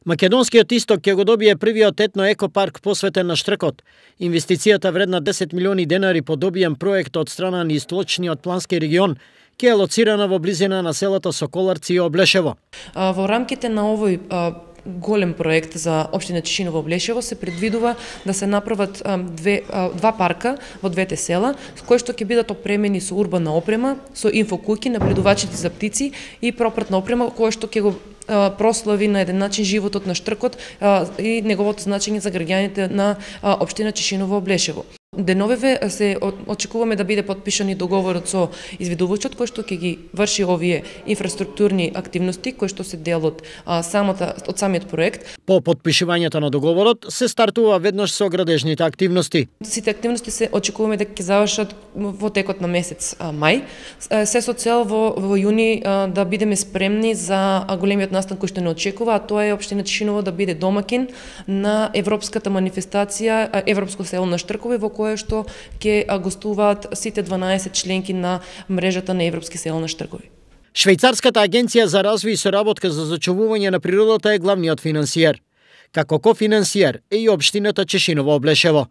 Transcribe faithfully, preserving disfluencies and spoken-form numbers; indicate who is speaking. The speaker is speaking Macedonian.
Speaker 1: Македонскиот исток ќе го добие првиот етно екопарк посветен на штркот. Инвестицијата вредна десет милиони денари по добиен проект од страна на Источниот плански регион ќе е лоцирана во близина на селата Соколарци и Облешево.
Speaker 2: Во рамките на овој голем проект за општина Тишиново Облешево се предвидува да се направат две, два парка во двете села, кои што ќе бидат опремени со урбана опрема, со инфокуќи, наблюдувачите за птици и пропратна опрема, која што ќе го прослави на еден начин животот на штркот и неговото значење за граѓаните на општина Тишиново Облешево. Деновеве се очекуваме да биде подпишан и договорот со изведувачот кој што ќе ги врши овие инфраструктурни активности кои што се дел од самата од самиот проект.
Speaker 1: По подпишувањето на договорот се стартува веднаш со градежните активности.
Speaker 2: Сите активности се очекуваме да ќе завршат во текот на месец мај, се со цел во, во јуни да бидеме спремни за големиот настан кој што не очекува, а тоа е општина Тишиново да биде домакин на европската манифестација Европско село на штркови, во кое што ќе гостуваат сите дванаесет членки на мрежата на Европски села на штркови.
Speaker 1: Швајцарската агенција за развој и соработка за зачувување на природата е главниот финансиер. Како кофинансиер е и општината Тишиново Облешево.